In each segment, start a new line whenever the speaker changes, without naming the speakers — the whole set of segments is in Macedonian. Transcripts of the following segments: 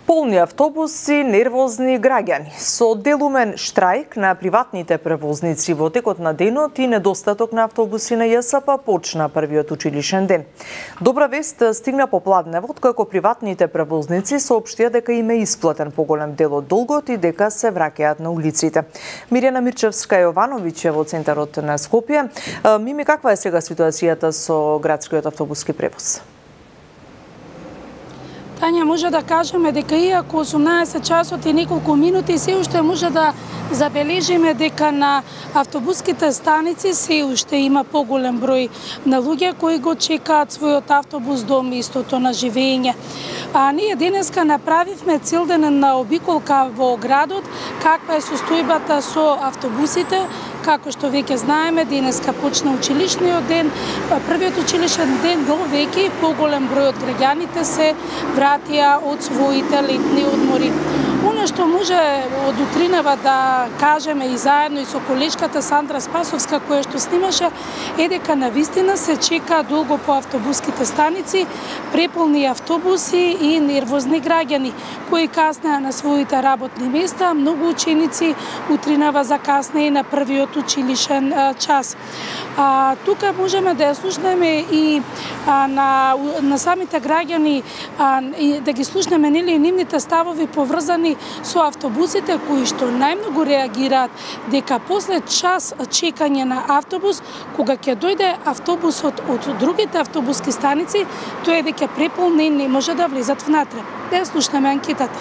Полни автобуси, нервозни граѓани. Со делумен штрајк на приватните превозници во текот на денот и недостаток на автобуси на ЈСП почна првиот училишен ден. Добра вест стигна попладневот, како приватните превозници соопштија дека им е исплатен поголем дел од долгот и дека се враќаат на улиците. Мирјана Мирчевска-Јовановиќ е во центарот на Скопје. Мими, каква е сега ситуацијата со градскиот автобуски превоз?
Тања, може да кажеме дека иако 18 часот и неколку минути се уште може да забележиме дека на автобуските станици се уште има поголем број на луѓе кои го чекаат својот автобус до местото на живење. Ние денеска направивме целдневна обиколка во градот, каква е состојбата со автобусите. Како што веќе знаеме, денеска почна училишниот ден, првиот училишен ден, но веќе поголем број од граѓаните се вратија од своите летни одмори. Оно што може од утринава да кажеме и заедно и со колешката Сандра Спасовска, која што снимаше, е дека навистина се чека долго по автобуските станици, преполни автобуси и нервозни граѓани кои каснеа на своите работни места. Многу ученици утринава закаснеа на првиот училишен час. Тука можеме да ја слушнеме и на самите граѓани, да ги слушнеме нивните ставови поврзани со автобусите кои што најмногу реагираат дека после час чекање на автобус, кога ќе дојде автобусот од другите автобуски станици, тој е дека преполнен, не може да влезат внатре. Да ја слушнеме анкетата.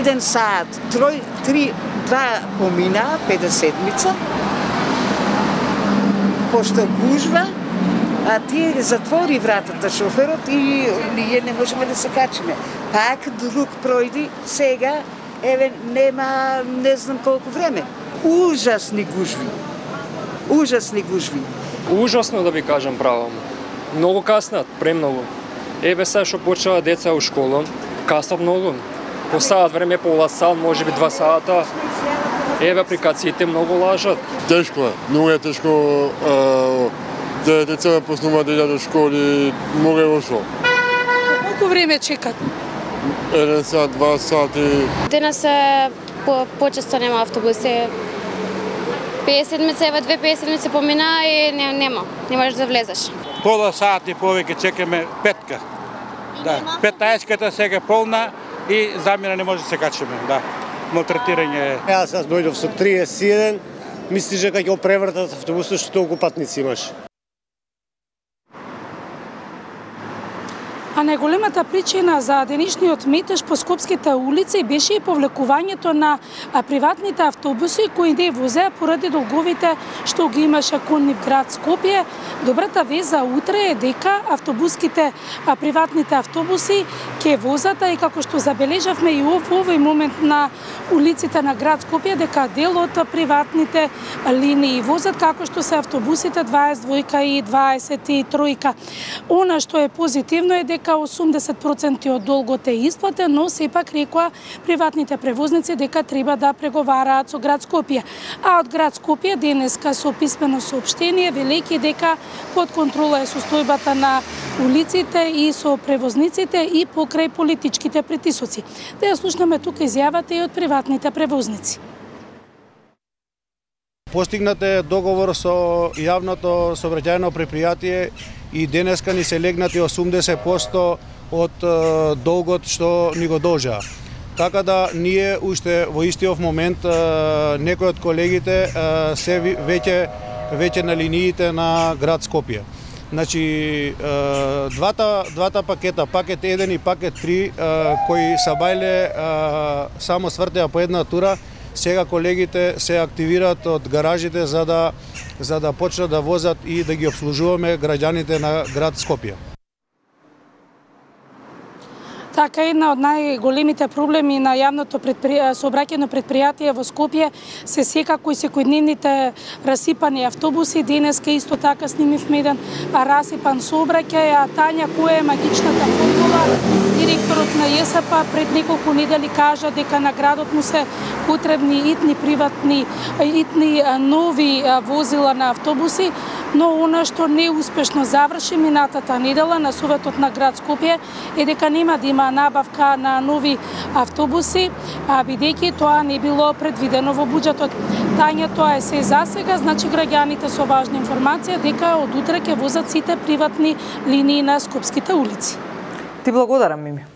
1 саат, 2 помина, 50-мица, пошто гужва, а тие затвори вратата шоферот и ние не можеме да се качиме. Пак друг пројди, сега, еве, нема не знам колку време. Ужасни гужви. Ужасни гужви.
Ужасно, да ви кажам право. Многу каснат, премногу. Еве сега што почнаа деца у школа, каснат многу. По саат време, пола саат, можеби 2 сата. Еве апликациите многу лажат.
Тешко е, многу е тешко. Деца почнуваат да идат до школи, многу е лошо.
Колку време чекат?
1 сат, 2 сати.
Денес почесто нема автобуси. 50-мица, еве 2 помина и нема. Не можеш да влезеш.
Пола сат и повеќе чекаме петка. Да, 15-ката сега полна и замина не може да се качиме. Да. Малтретирање.
Јас дојдов со 31, мислиш дека ќе го превртат автобусот што толку патници имаш.
А најголемата причина за денешниот метеж по скопските улици беше и повлекувањето на приватните автобуси кои не возеа поради долговите што ги имаше кон нив град Скопје. Добрата вест за утре е дека приватните автобуси ќе возат, и како што забележавме и во овој момент на улиците на град Скопје, дека дел од приватните линии возат, како што се автобусите 22 и 23. Она што е позитивно е дека 80% од долгот е исплатен, но сепак рекоа приватните превозници дека треба да преговараат со град Скопје. А од град Скопје денеска со писмено соопштение велејќи дека под контрола е состојбата на улиците и со превозниците и покрај политичките притисоци. Да ја слушнеме тука изјавата и од приватните превозници.
Постигнат е договор со јавното сообраќајно предпријатие и денеска ни се легнати 80% од долгот што ни го должаа. Така да ние уште во истиот момент некои од колегите се веќе на линиите на град Скопје. Значи двата пакета, пакет 1 и пакет 3 кои са бајле само свртеа по една тура, сега колегите се активираат од гаражите за да почнат да возат и да ги обслужуваме граѓаните на град Скопје.
Така, една од најголемите проблеми на јавното сообраќајно предпријатие во Скопје се секако и секојдневните расипани автобуси. Денеска исто така снимивме еден расипан сообраќај. А Тања, која е магичната формула? Директорот на ЈСП пред неколку недели кажа дека на градот му се потребни итни нови возила на автобуси. но она што неуспешно заврши минатата недела на Советот на град Скопје е дека нема да има набавка на нови автобуси, бидејќи тоа не било предвидено во буџетот. Тања, тоа е се за сега, значи граѓаните со важна информација дека од утре ќе возат сите приватни линии на скопските улици.
Ти благодарам, Мими.